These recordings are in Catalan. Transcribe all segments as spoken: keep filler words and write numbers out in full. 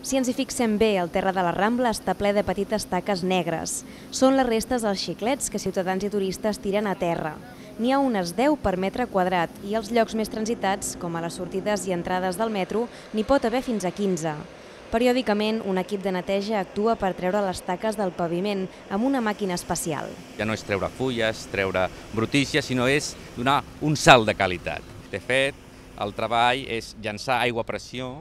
Si ens hi fixem bé, el terra de la Rambla està ple de petites taques negres. Són les restes dels xiclets que ciutadans i turistes tiren a terra. N'hi ha unes deu per metre quadrat i als llocs més transitats, com a les sortides i entrades del metro, n'hi pot haver fins a quinze. Periòdicament, un equip de neteja actua per treure les taques del paviment amb una màquina especial. Ja no és treure fulles, treure brutícies, sinó és donar un salt de qualitat. De fet, el treball és llançar aigua a pressió,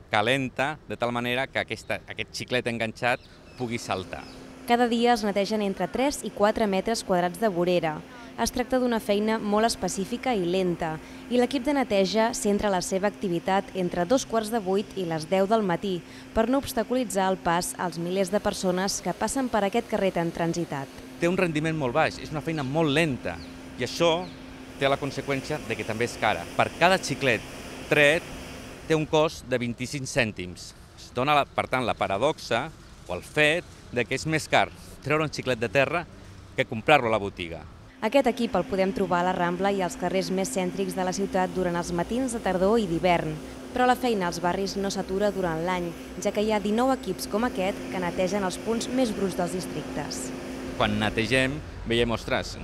calenta, de tal manera que aquesta, aquest xiclet enganxat pugui saltar. Cada dia es netegen entre tres i quatre metres quadrats de vorera. Es tracta d'una feina molt específica i lenta, i l'equip de neteja centra la seva activitat entre dos quarts de vuit i les deu del matí per no obstaculitzar el pas als milers de persones que passen per aquest carrer tan transitat. Té un rendiment molt baix, és una feina molt lenta, i això té la conseqüència de que també és cara. Per cada xiclet tret té un cost de vint-i-cinc cèntims. Es dona, per tant, la paradoxa o el fet de que és més car treure un xiclet de terra que comprar-lo a la botiga. Aquest equip el podem trobar a la Rambla i als carrers més cèntrics de la ciutat durant els matins de tardor i d'hivern. Però la feina als barris no s'atura durant l'any, ja que hi ha dinou equips com aquest que netegen els punts més bruts dels districtes. Quan netegem veiem, ostres,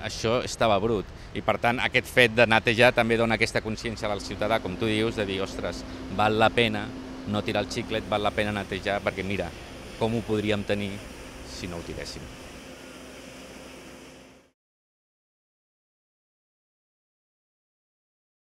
això estava brut. I per tant aquest fet de netejar també dona aquesta consciència al ciutadà, com tu dius, de dir, ostres, val la pena no tirar el xiclet, val la pena netejar, perquè mira, com ho podríem tenir si no ho tiréssim.